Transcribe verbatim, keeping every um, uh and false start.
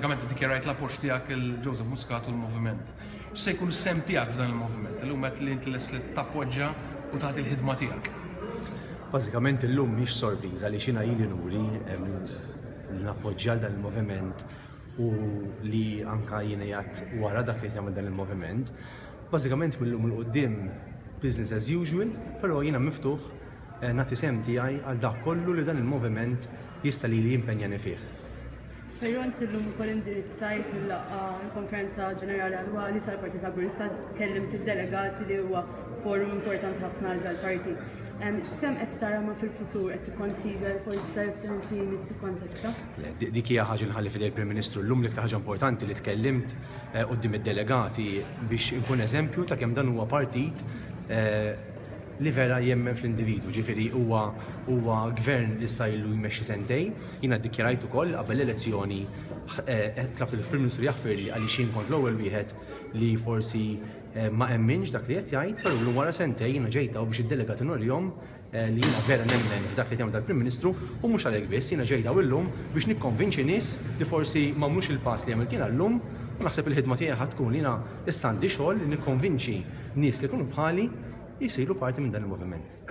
Bażikament iddikjarajt l-appoġġ tiegħek lil Joseph Muscat u l-moviment. X'se jkun is-sehem tiegħek f'dan il-moviment? Illum qed li inti lest li tappoġġa u tagħti l-ħidma tiegħek. Bażikament illum mhix sorpriża li xina ili nuri li nappoġġja dan il-moviment u li anka jiena qiegħed wara dak li jagħmel dan il-moviment. Bażikament mill-lum 'il quddiem business as usual, però jiena miftuħ eh, nagħti sehem tiegħi għal dak kollu li dan il-moviment jista' li jimpenjani fih. Però inti llum ukoll indirizzajt il-laqgħa, il-konferenza ġenerali annwali tal-Partit Laburista, kellimt id-delegati li huwa forum importanti ħafna għal dal-partit. X'sehem qed tara ma fil-futur, qed tikkonsidra forsi fl-elezzjoni li jmiss tikkontesta? Le, dik hija ħaġa nħalli f'idejn il-Prim Ministru. Llum l-iktar ħaġa importanti li tkellimt eh, quddiem id-delegati biex inkun eżempju ta' kemm dan huwa partit eh, li vera jemmen fl-individu, ġifieri huwa huwa gvern li issa ilu jmexxi sentejn. Jiena ddikjarajt ukoll qabel l-elezzjoni, eh, tlabt il-Prim Ministru jaħfirli għaliex jien kont l-ewwel wieħed li forsi eh, ma emminx dak li qed jgħid, però llum wara sentejn jiena ġejta u biex id-delegati nurihom eh, li jiena vera nemmen f'dak li jagħmel dal-Prim Ministru. U mhux għalhekk biss, jiena ġejta illum biex nikkonvinċi nies li forsi m'għamlux il-pass li għamilt jiena llum, u naħseb il-ħidma tiegħi ħa tkun li jiena issa għandi xogħol li nikkonvinċi nies li jkunu bħali jisiru parti minn dan il-moviment.